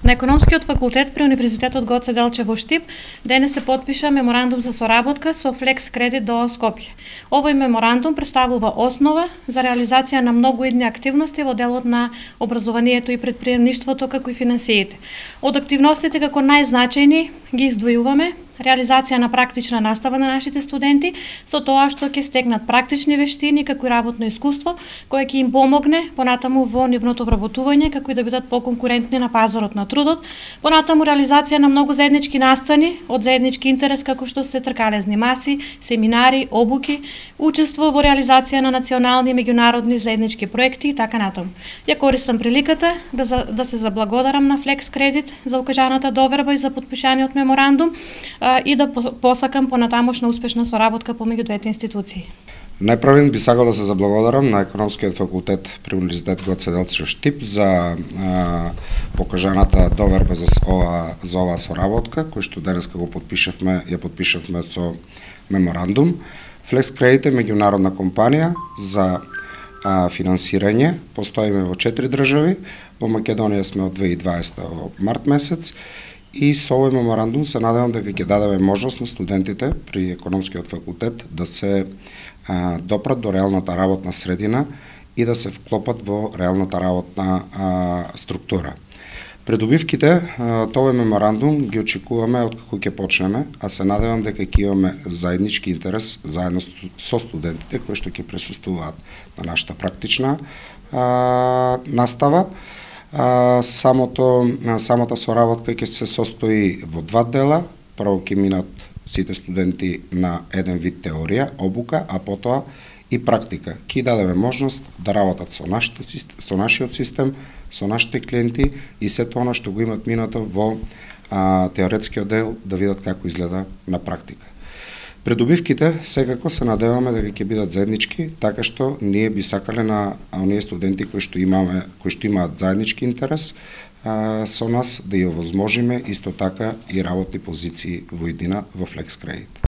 На Економскиот факултет при Универзитетот Гоце Делчев во Штип денес се потпиша меморандум за соработка со Флекс Кредит до Скопје. Овој меморандум представува основа за реализација на многу идни активности во делот на образованието и претприемништвото како и финансиите. Од активностите како најзначајни ги издвојуваме реализација на практична настава на нашите студенти, со тоа што ќе стекнат практични вештини како и работно искуство, кое ќе им помогне понатаму во нивното вработување, како и да бидат поконкурентни на пазарот на трудот, понатаму реализација на многу заеднички настани од заеднички интерес како што се тркалезни маси, семинари, обуки, учество во реализација на национални и меѓународни заеднички проекти и така натаму. Ја користам приликата да се заблагодарам на Флекс Кредит за укажаната доверба и за потпишаниот меморандум и да посакам понатамошна успешна соработка помеѓу двете институции. Најпрвен би сакал да се заблагодарам на Економскиот факултет при Универзитет Гоце Делчев Штип за покажаната доверба за оваа соработка, кој што денеска го ја подпишавме со меморандум. Флекс Кредит е меѓународна компанија за финансирање. Постоиме во 4 држави. Во Македонија сме од 2020 во март месец. И со овој меморандум се надевам дека ќе дадеме можност на студентите при Економскиот факултет да се допрат до реалната работна средина и да се вклопат во реалната работна структура. Придобивките од овој меморандум ги очекуваме откако ќе почнеме, а се надевам дека ќе имаме заеднички интерес заедно со студентите кои што ќе присуствуваат на нашата практична настава. Самата соработка ќе се состои во 2 дела. Прво ќе минат сите студенти на еден вид теорија, обука, а потоа и практика. Ќе дадеме можност да работат со нашиот систем, со нашите клиенти и сето она што го имат минато во теоретскиот дел да видат како изгледа на практика. Придобивките секако се надеваме дека ќе бидат заеднички, така што ние би сакале на оние студенти кои што имаат заеднички интерес со нас да ја овозможиме исто така и работни позиции во иднина во Флекс Кредит.